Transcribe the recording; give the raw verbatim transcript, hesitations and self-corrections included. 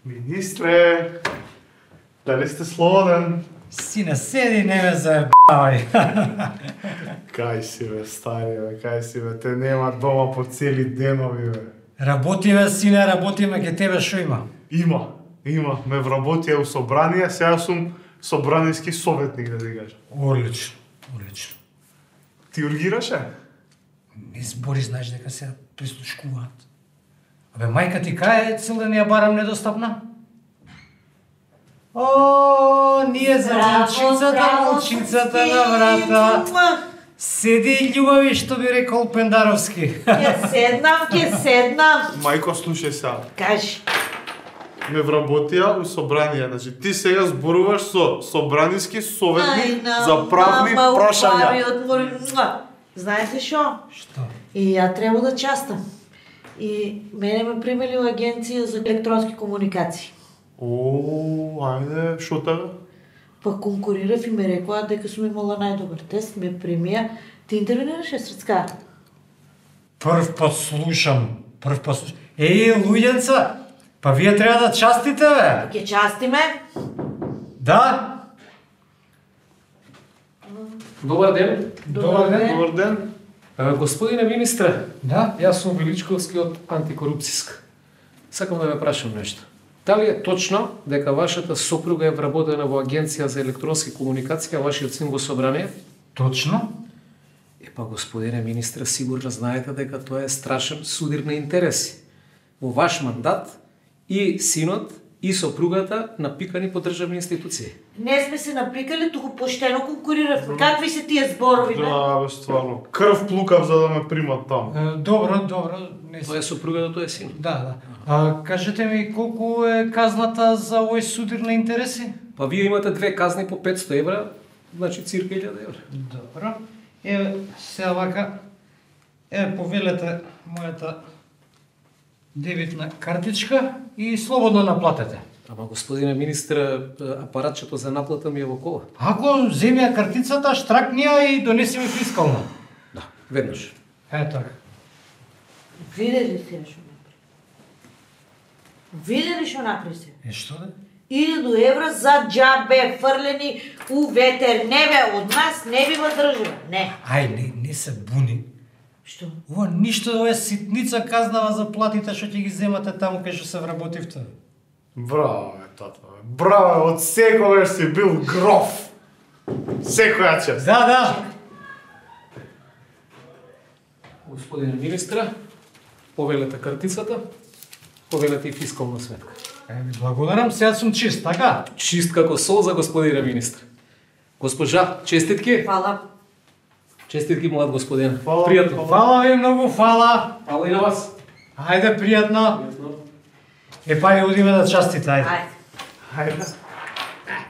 Министре, дали сте слободен? Сине, седи, не ме заебавај. Кај си бе, стари бе, кај си бе, те нема дома по цели денови бе. Работиме, сине, работиме, ке тебе шо има? Има, има, ме вработија у собрание, сега сум собраниски советник, да ти кажа. Одлично, одлично. Ти ургираше? Не збори, знаеш дека се прислушкуваат. Абе, мајка ти кај е цел да не ја барам недостапна? О, ние за молчицата, молчицата на врата. Седи љубави, што би рекол Пендаровски. Ке седнам, ке седнам. Мајко, слушај сега. Кажи. Ме вработија у собрание, значи ти сега зборуваш со собраниски советник за правни прашања. Знаете шо? Што? И ја треба да частам. И мене ме примели у агенција за електронски комуникации. О, ајде, шо така? Па конкурирав и ме рекоа дека сум имала најдобар тест, ме примија. Ти интервенираше Срцка? Прв пат слушам, прв пат слушам. Еј, луѓенца, па вие треба да частите, бе. Ке частиме. Да? Добар ден. Добар ден. Добар ден. А, господине министре, Да? јас сум Величковски од Антикорупцијска. Сакам да ве прашам нешто. Дали е точно дека вашата сопруга е вработена во Агенција за електронски комуникации, а вашиот син во собрание? Точно? Епа, господине министре, сигурно знаете дека тоа е страшен судир на интереси. Во ваш мандат и синот и сопругата напикани по државни институции. Не сме се напикали, туку поштено конкуриравме. Какви се тие зборови, бе? Да, бе, стварно. Крв плукав за да ме примат таму. Е, добро, добро. Не Тоа е сопругата, тоа е синот. Да, да. А, кажете ми колку е казната за овој судир на интереси? Па вие имате две казни по петсто евра, значи цирка илјада евра. Добро. Еве, сега вака, еве повелете мојата дебитна картичка и слободно наплатете. Ама, господине министре, апаратчето за наплата ми е во кола. Ако земи ја картицата, штракни ја и донеси ми фискална. Да, веднаш. Е, така. Виде ли се шо напри? Виде ли шо напри се? Е, што да? илјаду евра за џабе фрлени у ветер. Не бе, од нас не бива држава. Не. Ај, не, не се буни. Што? Ова ништо, ова е ситница казнава за платите што ќе ги земате таму кај што се вработивте. Браво, бе, тато, бе. Браво, од секогаш си бил гроф. Секоја чест. Да, да. Господине министре, повелете картицата, повелете и фискална сметка. Е, ви благодарам, сега сум чист, така? Чист како сол за господине министре. Госпожа, честитки. Фала. Честитки, млад господин. Фала, Пријатно. Фала ви многу, фала. Фала и на вас. Ајде, пријатно. Е, па ја одиме да частите, ајде. Ајде. Ајде.